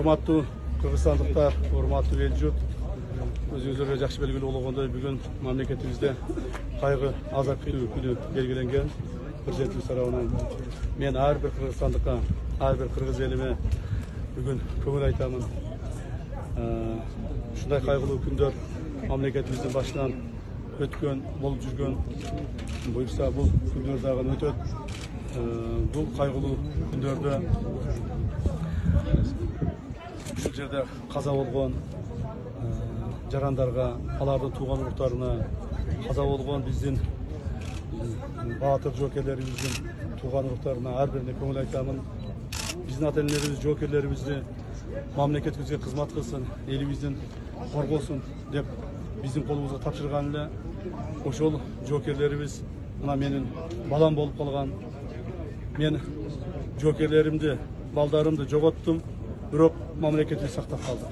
Урматтуу кыргызстандыктар, урматтуу эл журт, өзүңүздарга жакшы белгилүү болгондой бүгүн мамлекетибизде кайгы азап күнү белгиленген. Президентибиз тарабынан мен ар бир кыргызстандыкка, ар бир кыргыз элиме бүгүн көңүл айтамын. Ушундай кайгылуу күндөр мамлекетибиздин башынан өткөн, болуп жүргөн. Буюрса бул күндөр дагы өтөт. Бул кайгылуу күндөрдө ушул жерде каза болгон жарандарга, алардын тууган уруктарына, каза болгон биздин баатыр жоокерлерибиздин тууган уруктарына ар бирине көңүл айтамын. Биздин ата-энелерибиз, жоокерлерибизди мамлекетибизге кызмат кылсын, элибиздин коргосун деп биздин колубузга тапшырган эле. Ошол жоокерлерибиз мына менин балам болуп калган. Мен жоокерлеримди, балдарымды жоготтум, бирок мамлекетибиз сактап калды.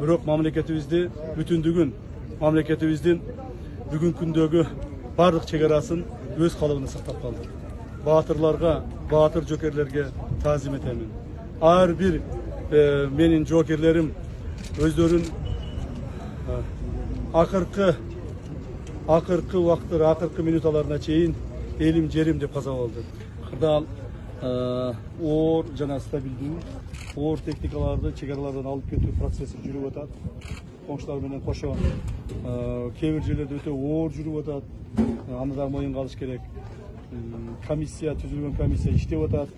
Бирок мамлекетибизди бүтүндүгүн, мамлекетибиздин бүгүнкү күндөгү бардык чегарасын өз калыбында сактап калды. Баатырларга, баатыр жоокерлерге таазим этемин. Ар бир менин жоокерлерим өздөрүн акыркы убакыттар, акыркы минуталарына чейин элим, жерим деп каза болду. Кырдаал оор жана стабилдүү, оор техникаларды чегаралардан алып кетүү процесси жүрүп атат. Коңшулар менен кошо кээ бир жерлерде өтө оор жүрүп атат. Аны да моюнга алыш керек. Комиссия түзүлгөн, комиссия иштеп атат.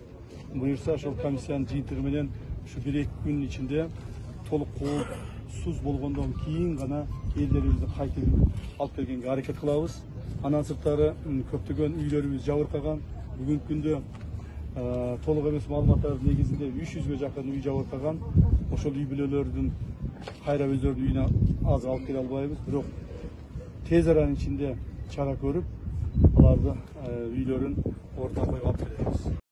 Буюрса ошол комиссиянын жыйынтыгы менен ушу 1-2 күн ичинде толук коопсуз болгондон кийин гана элдерибизди кайтып алып келгенге аракет кылабыз. Андан сырткары көптөгөн үйлөрүбүз жабыркаган. Бүгүнкү күндө толук эмес маалыматтардын негизинде 300ге жакын үй жабыркаган. Ошол үй бүлөлөрдүн кайра өздөрүнүн үйүнө азыр алып келе албайбыз. Бирок тез аранын ичинде чара көрүп, аларды үйлөрүн орто койго алып келебиз.